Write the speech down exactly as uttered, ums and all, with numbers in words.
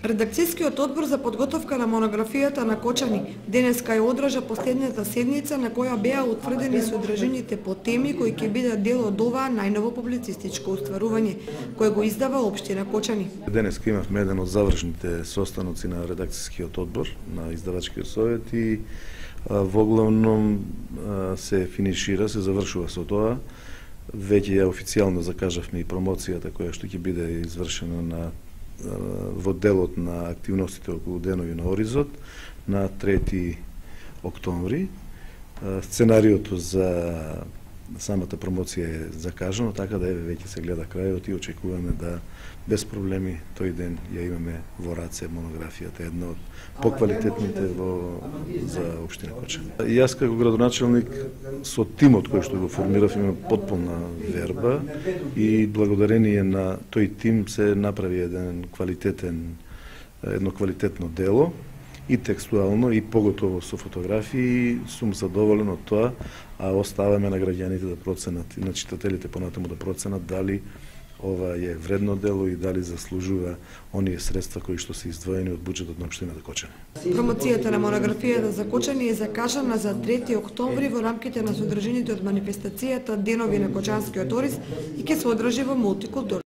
Редакцијскиот одбор за подготовка на монографијата на Кочани денеска ја одржа последната седница на која беа утврдени содржините по теми кои ќе бидат дел од оваа најново публицистичко устварување кое го издава општина Кочани. Денеска имавме еден од завршните состаноци на редакцијскиот одбор на издавачкиот совет и во главном се финишира, се завршува со тоа. Веќе ја официјално закажавме и промоцијата која што ќе биде извршена на во делот на активностите околу денови на Оризот на трети октомври. Сценариото за самата промоција е закажано, така да еве веќе се гледа крајот и очекуваме да без проблеми тој ден ја имаме во раце монографијата, една од поквалитетните во за општина Кочани. Јас како градоначелник со тимот кој што го формирав имам потполна верба и благодарение на тој тим се направи еден квалитетен едно квалитетно дело и текстуално и поготово со фотографии. Сум задоволен од тоа, а оставаме на граѓаните да проценат и на читателите понатаму да проценат дали ова е вредно дело и дали заслужува оние средства кои што се издвоени од буџетот на општината Кочани. Промоцијата на монографијата за Кочани е закажана за трети октомври во рамките на содржините од манифестацијата Денови на Кочанскиот ориз и ќе се одржи во мултикултурни